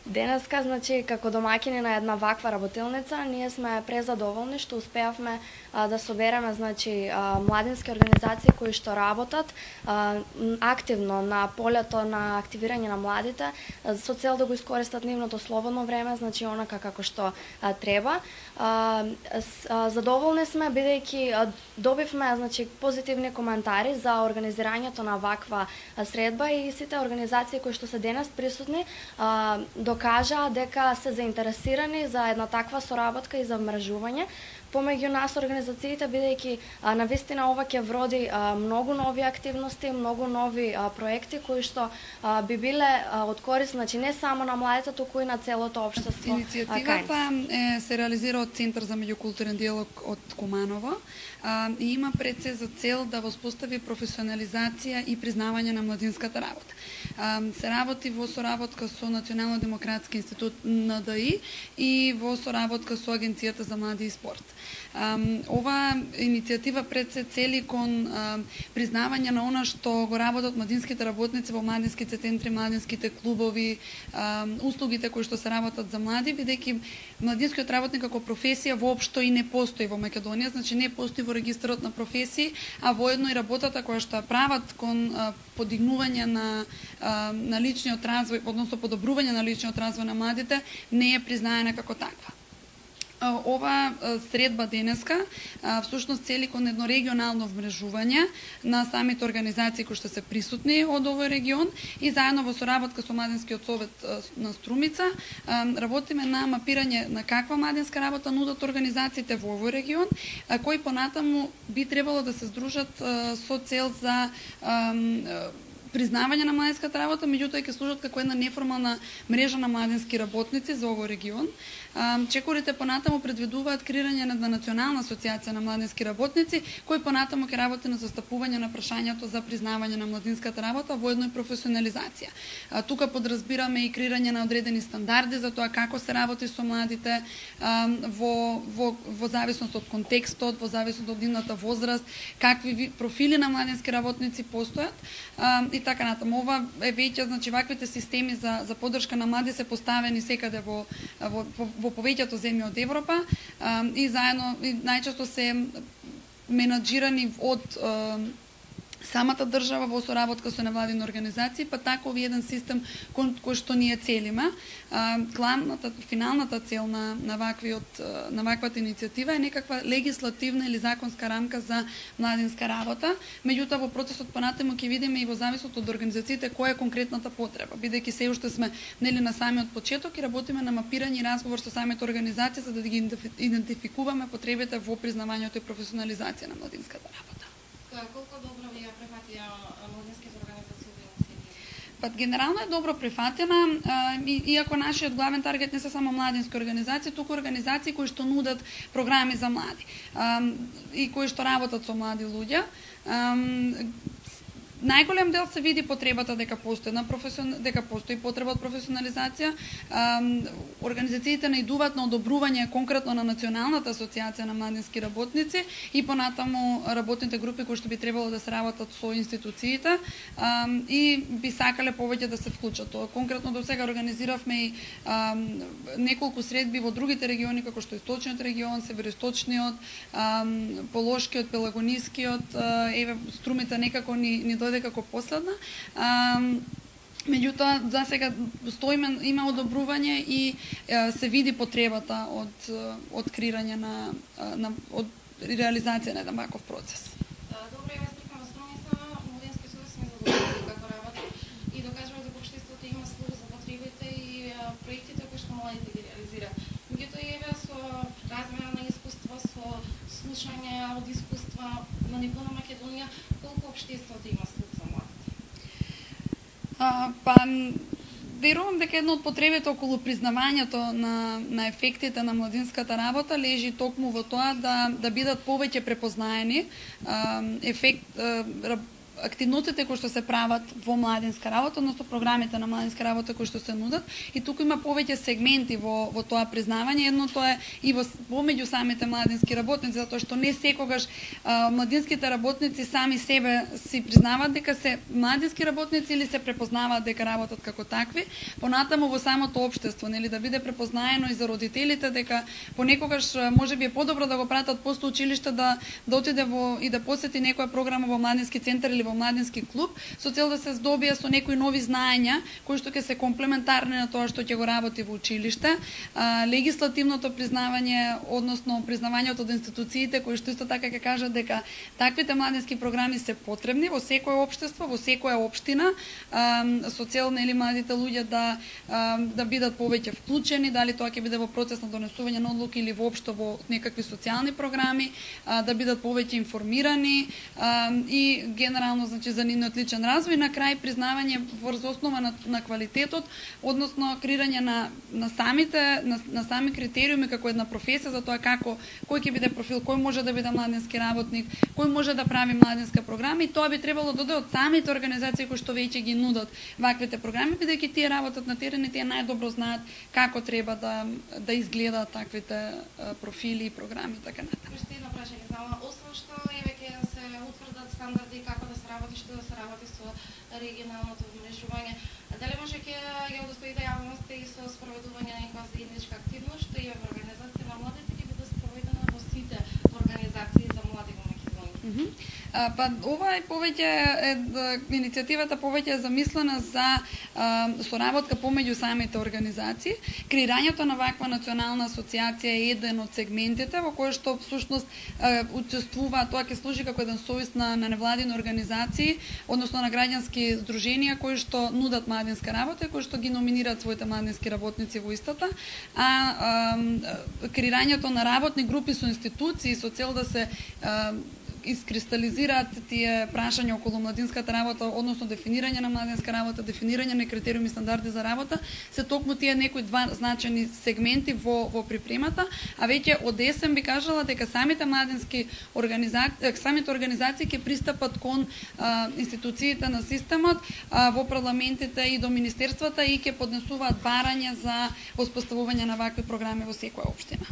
Денеска, значи, како домаќини на една ваква работилница, ние сме презадоволни што успеавме да собереме, значи, младински организации кои што работат активно на полето на активирање на младите, со цел да го искористат нивното слободно време, значи, онака како што треба. Задоволни сме, бидејќи добивме, значи, позитивни коментари за организирањето на ваква средба и сите организации кои што се денес присутни докажаа дека се заинтересирани за една таква соработка и за вмрежување помеѓу нас организациите, бидејќи навистина ова ќе вроди многу нови активности, многу нови проекти кои што би биле од корист, значи не само на младите, туку и на целото општество. Иницијативата се реализира од Центар за меѓукултурен диалог од Куманово и има пред се за цел да воспостави професионализација и признавање на младинската работа. Се работи во соработка со Национално демократски институт НДИ и во соработка со Агенцијата за млади и спорт. Ова иницијатива пред се цели кон признавање на она што го работат младинските работници во младинските центри, младинските клубови, услугите кои што се работат за млади, бидејќи младинскиот работник како професија воопшто и не постои во Македонија, значи не постои во регистарот на професии, а воедно и работата која што ја прават кон подигнување на личниот развој, односно подобрување на личниот развој на младите, не е признаена како таква. Ова средба денеска всушност цели кон едно регионално вмрежување на самите организации кои што се присутни од овој регион и заедно во соработка со Младинскиот совет на Струмица работиме на мапирање на каква младинска работа нудат организациите во овој регион, кои понатаму би требало да се здружат со цел за признавање на младинската работа, меѓутоа ќе служат како една неформална мрежа на младински работници за овој регион. Чекорите понатаму предвидуваат креирање на национална асоциација на младински работници, кој понатаму ќе работи на застапување на прашањето за признавање на младинската работа, воедно и професионализација. Тука подразбираме и креирање на одредени стандарди за тоа како се работи со младите во зависност од контекстот, во зависност од нивната возраст, какви профили на младински работници постојат и така натаму. Ова е веќе, значи ваквите системи за поддршка на млади се поставени секаде во повеќето земји од Европа и заедно и најчесто се менаџирани од самата држава во соработка со невладини организации, па таков еден систем кој што ние целиме. Финалната цел на ваквата иницијатива е некаква легислативна или законска рамка за младинска работа, меѓутоа во процесот понатаму ќе видиме и во зависност од организациите која е конкретната потреба, бидејќи се уште сме на самиот почеток и работиме на мапирање и разговор со самите организации за да ги идентификуваме потребите во признавањето и професионализација на младинската работа. Колку добро ви ја прифатија младинските организации во Јелсинки? Генерално е добро прифатена, иако нашиот главен таргет не се само младински организации, туку организации кои што нудат програми за млади и кои што работат со млади луѓе. Најголем дел се види потребата дека постои потреба од професионализација. Организациите наидуваат на одобрување конкретно на Националната асоциација на младински работници и понатаму работните групи кои што би требало да се работат со институциите и би сакале повеќе да се вклучат. Конкретно до сега организиравме и неколку средби во другите региони како што Источниот регион, Североисточниот, Полошкиот, Пелагонискиот, Струмица некако ни дојде како последна. Меѓутоа, за сега има одобрување и се види потребата од креирање од реализација на еден ваков процес. Добро, ја стрикам во Струмица, Младински союз сме задоволени како работи и докажува дека општеството има слух за потребите и проектите кои што младите ги реализираат. Меѓутоа, еве со размена на искуства, со слушање од искуства на ниво на Македонија, колку општеството има слух за младите? Верувам дека едно од потребите околу признавањето на ефектите на младинската работа лежи токму во тоа да бидат повеќе препознаени активностите кои што се прават во младинска работа, односно програмите на младинска работа кои што се нудат, и туку има повеќе сегменти во тоа признавање. Едното е и помеѓу самите младински работници, затоа што не секогаш младинските работници сами себе си признаваат дека се младински работници или се препознаваат дека работат како такви. Понатаму во самото општество, нели, да биде препознаено и за родителите дека понекогаш можеби е подобро да го пратат после училиште да отиде и да посети некоја програма во младински центар или во младински клуб, со цел да се здобие со некои нови знаења кои што ќе се комплементарни на тоа што ќе го работи во училиште. Легислативното признавање, односно признавањето од институциите кои што исто така ќе кажат дека таквите младински програми се потребни во секое општество, во секоја општина, со цел, нели, младите луѓе да бидат повеќе вклучени, дали тоа ќе биде во процес на донесување на одлуки или воопшто во некакви социјални програми, да бидат повеќе информирани и генерално, значи, за нивниот личен развој. На крај признавање врз основа на квалитетот, односно креирање на сами критериуми како една професија за тоа кој ќе биде профил, кој може да биде младински работник, кој може да прави младинска програма, и тоа би требало да дојде од самите организации кои што веќе ги нудат ваквите програми, бидејќи тие работат на терен и тие најдобро знаат како треба да изгледаат таквите профили и програми и така натаму. Уште едно прашање, освен што веќе се утврдат стандарди како да се работи, што да се работи со регионалното вмешување, дали може ќе ја удостоите јавноста и со спроведување на некоја заедничка активност што и во организација на младите ќе биде спроведена во сите организации за млади во Македонија? Па ова е повеќе иницијативата повеќе е замислена за соработка помеѓу самите организации. Креирањето на ваква национална асоциација е еден од сегментите во кој што всушност учествува, тоа ќе служи како еден совис на невладини организации, односно на граѓански здруженија кои што нудат младинска работа и кои што ги номинираат своите младински работници во истата, креирањето на работни групи со институции со цел да се искристализираат тие прашања околу младинската работа, односно дефинирање на младинска работа, дефинирање на критериуми и стандарди за работа, се токму тие некои два значени сегменти во припремата, а веќе од есен би кажала дека самите младински организации ќе пристапат кон институциите на системот, во парламентите и до министерствата и ќе поднесуваат барања за воспоставување на вакви програми во секоја општина.